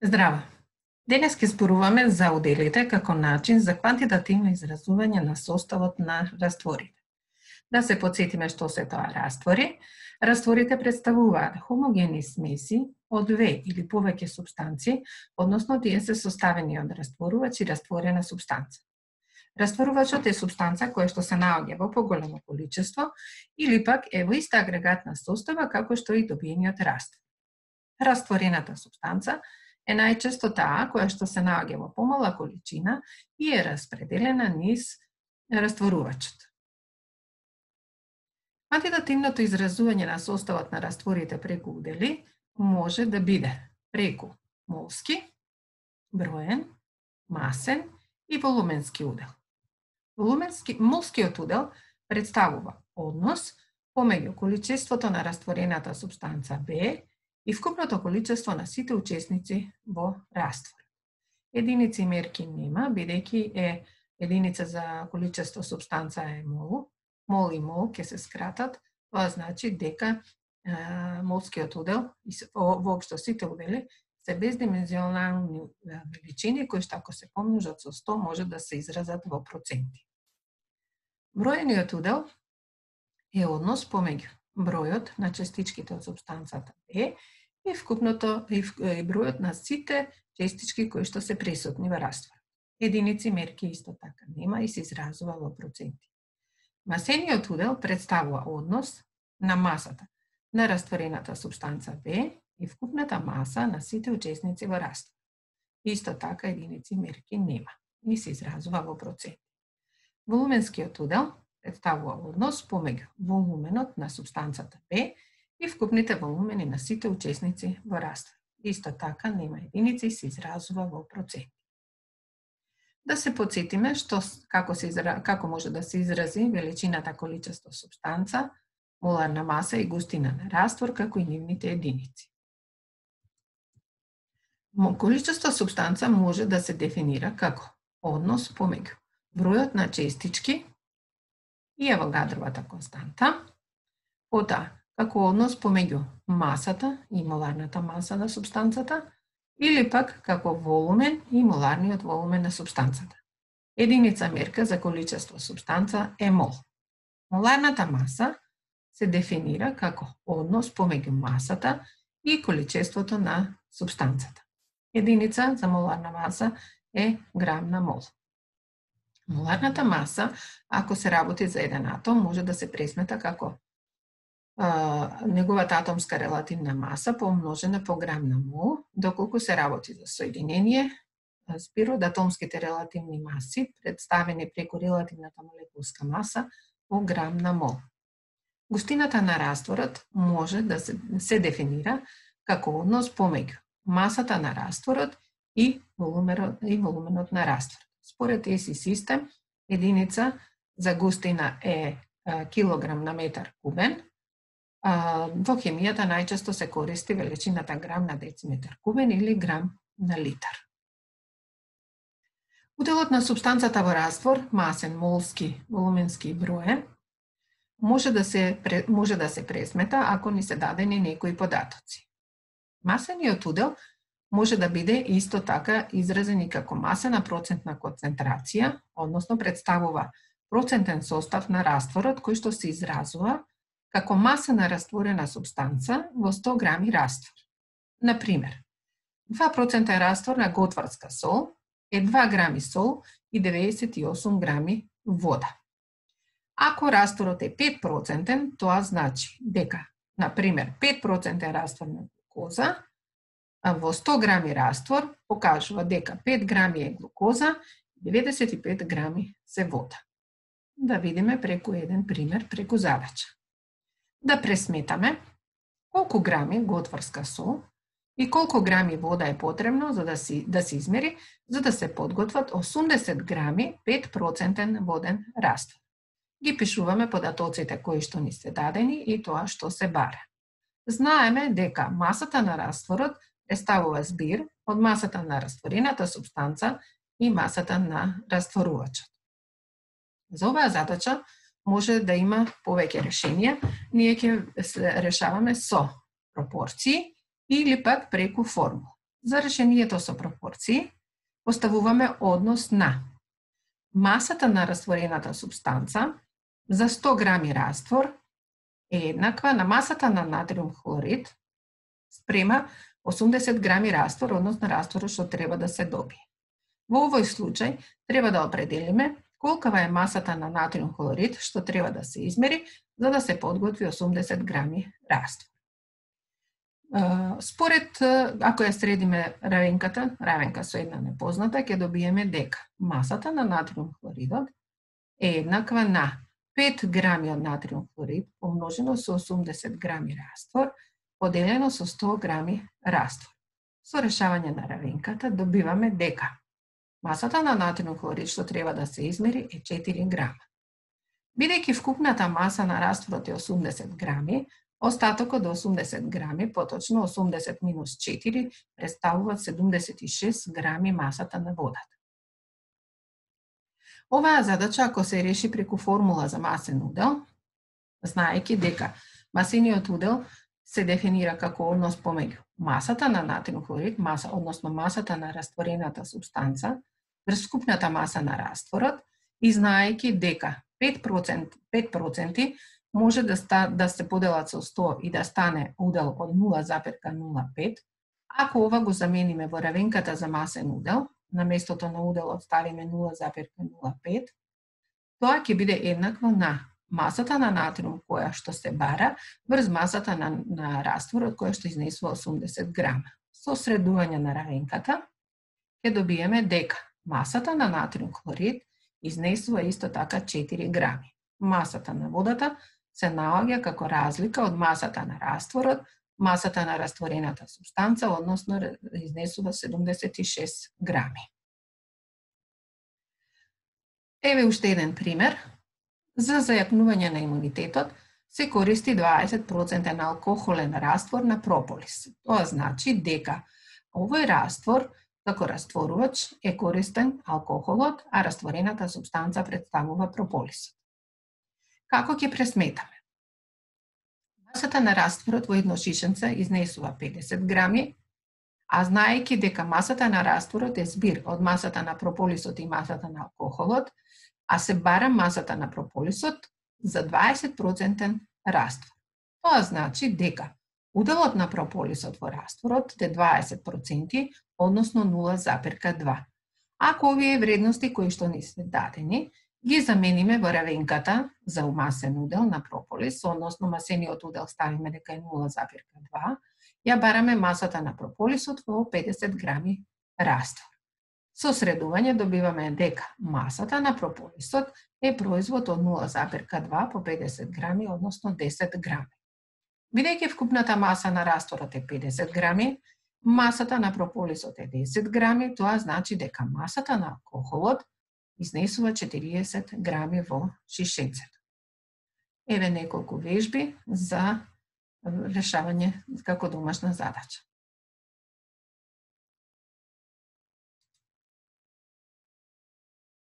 Здраво! Денес ќе зборуваме за уделите како начин за квантитативно изразување на составот на растворите. Да се потсетиме што се тоа раствори. Растворите представуваат хомогени смеси од две или повеќе супстанци, односно тие се составени од растворувач и растворена супстанца. Растворувачот е супстанца која што се наоѓа во поголемо количество или пак е во иста агрегатна состава како што и добиениот раствор. Растворената супстанца е најчесто таа која што се наоѓа во помала количина и е распределена низ растворувачот. Квантитативното изразување на составот на растворите преку удели може да биде преку молски, броен, масен и волуменски удел. Молскиот удел представува однос помеѓу количеството на растворената супстанца B и вкупното количество на сите учесници во раствор. Единици мерки нема, бидејќи е единица за количество супстанца е мол. Мол и мол ќе се скратат, тоа значи дека молскиот удел и воопшто сите удели се бездимензионални величини кои што ако се помножат со 100 може да се изразат во проценти. Броениот удел е однос помеѓу бројот на частичките од супстанцата B и вкупното и бројот на сите частички кои што се присутни во раствор. Единици мерки исто така нема и се изразува во проценти. Масениот удел представува однос на масата на растворената супстанца B и вкупната маса на сите учесници во раствор. Исто така единици мерки нема и се изразува во проценти. Волуменскиот удел представува однос помеѓу волуменот на супстанцата B и вкупните волумени на сите учесници во раствор. Исто така нема единици и се изразува во проценти. Да се потсетиме како може да се изрази величината количество супстанца, моларна маса и густина на раствор, како и нивните единици. Количество супстанца може да се дефинира како однос помеѓу бројот на частички и авогадровата константа, потоа како однос помеѓу масата и моларната маса на супстанцата, или пак како волумен и моларниот волумен на супстанцата. Единица мерка за количество супстанца е мол. Моларната маса се дефинира како однос помеѓу масата и количеството на супстанцата. Единица за моларна маса е грам на мол. Моларната маса, ако се работи за еден атом, може да се пресмета како неговата атомска релативна маса помножена по грам на мол, доколку се работи за соединение, збир од атомските релативни маси, представени преку релативната молекулска маса по грам на мол. Густината на растворот може да се дефинира како однос помеѓу масата на растворот и волуменот на растворот. Според ЕСИ систем, единица за густина е килограм на метар кубен. Во хемијата најчесто се користи величината грам на дециметар кубен или грам на литар. Уделот на супстанцата во раствор, масен, молски, волуменски и броен, може да се пресмета ако ни се дадени некои податоци. Масениот удел може да биде исто така изразен и како масена процентна концентрација, односно представува процентен состав на растворот кој што се изразува како маса на растворена супстанца во 100 грами раствор. Например, 2% раствор на готварска сол е 2 грами сол и 98 грами вода. Ако растворот е 5%, тоа значи дека, например, 5% раствор на глукоза во 100 грами раствор покажува дека 5 грами е глукоза и 95 грами се вода. Да видиме преку еден пример, преку задача. Да пресметаме колку грами готварска сол и колку грами вода е потребно за да се измери, за да се подготват 80 грами 5% воден раствор. Ги пишуваме податоците кои што ни се дадени и тоа што се бара. Знаеме дека масата на растворот представува збир од масата на растворената супстанца и масата на растворувачот. За оваа задача може да има повеќе решенија. Ние ќе решаваме со пропорции или пак преку формула. За решението со пропорции, поставуваме однос на масата на растворената супстанца за 100 грами раствор е еднаква на масата на натриум хлорид спрема 80 грами раствор, односно растворот што треба да се добие. Во овој случај треба да определиме колкава е масата на натриум хлорид што треба да се измери за да се подготви 80 грами раствор. Според, ако ја средиме равенка со една непозната, ќе добиеме дека масата на натриум хлоридот е еднаква на 5 грами од натриум хлорид помножено со 80 грами раствор, поделено со 100 грами раствор. Со решавање на равенката добиваме дека масата на натриум хлорид што треба да се измери е 4 грама. Бидејќи вкупната маса на растворот е 80 грами, остатокот до 80 грами, поточно 80 минус 4, представуваат 76 грами масата на водата. Оваа задача, ако се реши преку формула за масен удел, знаејќи дека масениот удел се дефинира како однос помеѓу масата на натриум хлорид, односно масата на растворената супстанца, врз вкупната маса на растворот, и знаејќи дека 5% може да се поделат со 100 и да стане удел од 0,05, ако ова го замениме во равенката за масен удел, на местото на уделот ставиме 0,05, тоа ќе биде еднакво на масата на натриум која што се бара врз масата на растворот која што изнесува 80 грама. Со средување на равенката ќе добиеме дека масата на натриум хлорид изнесува исто така 4 грами. Масата на водата се наоѓа како разлика од масата на растворот, масата на растворената супстанца, односно изнесува 76 грами. Еве уште еден пример. За зајакнување на имунитетот се користи 20% алкохолен раствор на прополис. Тоа значи дека овој раствор, како растворувач, е користен алкохолот, а растворената супстанца представува прополисот. Како ќе пресметаме? Масата на растворот во едно шишенце изнесува 50 грами, а знаејќи дека масата на растворот е збир од масата на прополисот и масата на алкохолот, а се бара масата на прополисот за 20% раствор. Тоа значи дека уделот на прополисот во растворот е 20%, односно 0,2. Ако овие вредности кои што ни се дадени, ги замениме во равенката за масен удел на прополис, односно масениот удел ставиме дека е 0,2, ја бараме масата на прополисот во 50 грами раствор. Со средување добиваме дека масата на прополисот е производ од 0,2 по 50 грами, односно 10 грами. Бидејќи вкупната маса на растворот е 50 грами, масата на прополисот е 10 грами, тоа значи дека масата на алкохолот изнесува 40 грами во шишенцето. Еве неколку вежби за решавање како домашна задача.